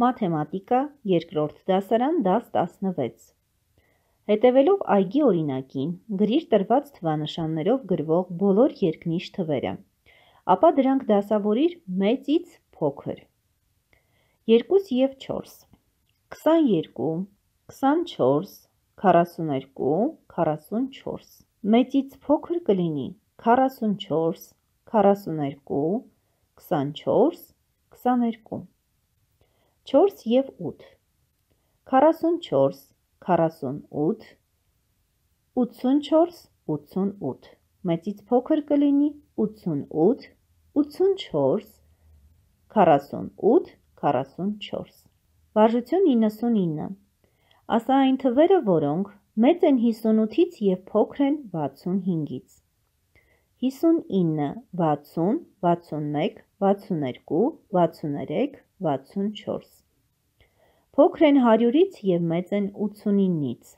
Մաթեմատիկա, երկրորդ դասարան, դաս 16։ Հետևելով այգի օրինակին, գրիր տրված թվանշաններով գրվող բոլոր երկնիշ թվերը, ապա դրանք դասավորիր մեծից փոքր։ 2 և 4, 22, 24, 42, 44, մեծից փոքր կլինի 44, 42, 24, 22, 4 և 8, 44, 48, 84, 88, մեծից փոքր կլինի 88, 84, 48, 44, վարժություն 99, ասա այն թվերը, որոնք մեծ են 58-ից և փոքր են 65-ից, 59, 60, 61, 62, 63, 64, փոքր են 100-ից և մեծ են 89-ից,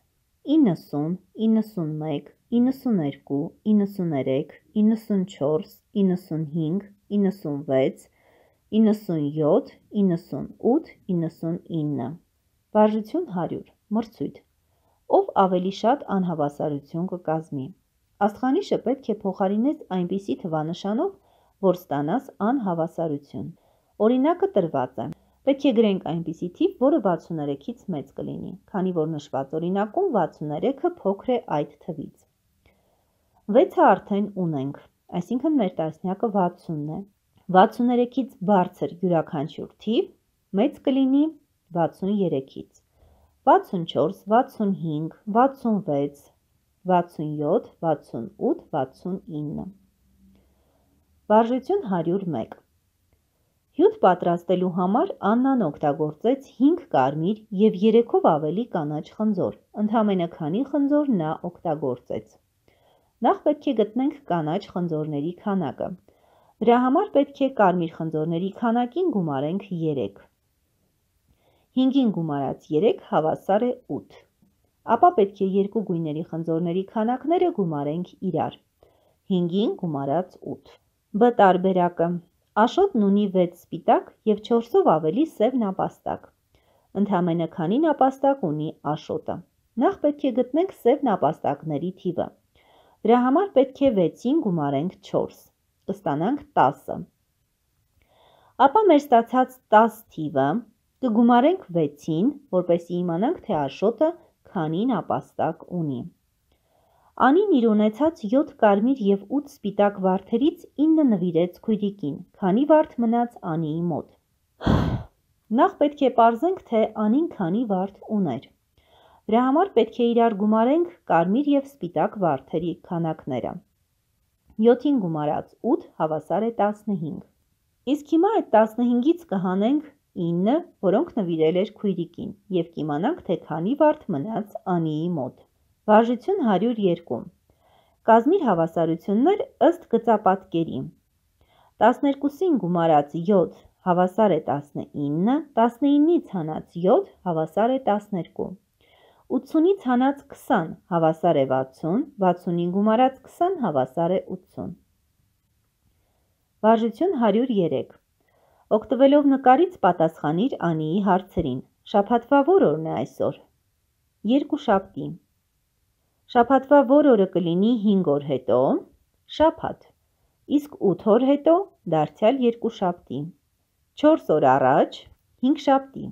90, 91, 92, 93, 94, 95, 96, 97, 98, 99, վարժություն 100, մրցույթ, ով ավելի շատ անհավասարություն կկազմի, աստղանիշը պետք է փոխարինես այնպիսի թվանշանով, որ ստանաս անհավասարություն, օրինակը տրված է, պետք է գրենք այնպիսի թիվ, որը 63-ից մեծ կլինի, քանի որ նշված օրինակում 63-ը փոքր է այդ թվից, 6-ը արդեն ունենք, այսինքն մեր տասնյակը 60 է, 63-ից բարձր յուրաքանչյուր թիվ մեծ կլինի 63-ից, 64, 65, 66, 67, 68, 69, վարժություն 101, հյութ պատրաստելու համար Աննան օգտագործեց 5 կարմիր և 3-ով ավելի կանաչ խնձոր, ընդամենը քանի խնձոր նա օգտագործեց, նախ պետք է գտնենք կանաչ խնձորների քանակը, դրա համար պետք է կարմիր խնձորների քանակին գումարենք 3, 5-ին գումարած 3 հավասար է 8, ապա պետք է երկու գույների խնձորների քանակները գումարենք իրար, 5-ին գումարած 8, B տարբերակը, Աշոտն ունի 6 սպիտակ և 4-ով ավելի սև նապաստակ, ընդամենը քանի նապաստակ ունի Աշոտը, նախ պետք է գտնենք սև նապաստակների թիվը, դրա համար պետք է 6-ին գումարենք 4, կստանանք 10, ապա մեր ստացած 10 թիվը կգումարենք 6-ին, որպեսզի իմանանք, թե Աշոտը քանի նապաստակ ունի, Անին իր ունեցած 7 կարմիր և 8 սպիտակ վարդերից 9 նվիրեց քույրիկին, քանի վարդ մնաց Անիի մոտ, նախ պետք է պարզենք, թե Անին քանի վարդ ուներ, դրա համար պետք է իրար գումարենք կարմիր և սպիտակ վարդերի քանակները, 7-ին գումարած 8 հավասար է 15, իսկ հիմա այդ 15-ից կհանենք 9, որոնք նվիրել էր քույրիկին և կիմանանք, թե քանի վարդ մնաց Անիի մոտ, վարժություն 102, կազմիր հավասարություններ ըստ գծապատկերի, 12-ին գումարած 7 հավասար է 19, 19-ից հանած 7 հավասար է 12, 80-ից հանած 20 հավասար է 60, 60-ին գումարած 20 հավասար է 80, վարժություն 103, օգտվելով նկարից պատասխանիր Անիի հարցերին, շաբաթվա որ օրն է այսօր, երկուշաբթի, շաբաթվա որ օրը կլինի 5 օր հետո, շաբաթ, իսկ 8 օր հետո, դարձյալ երկուշաբթի, 4 օր առաջ, հինգշաբթի,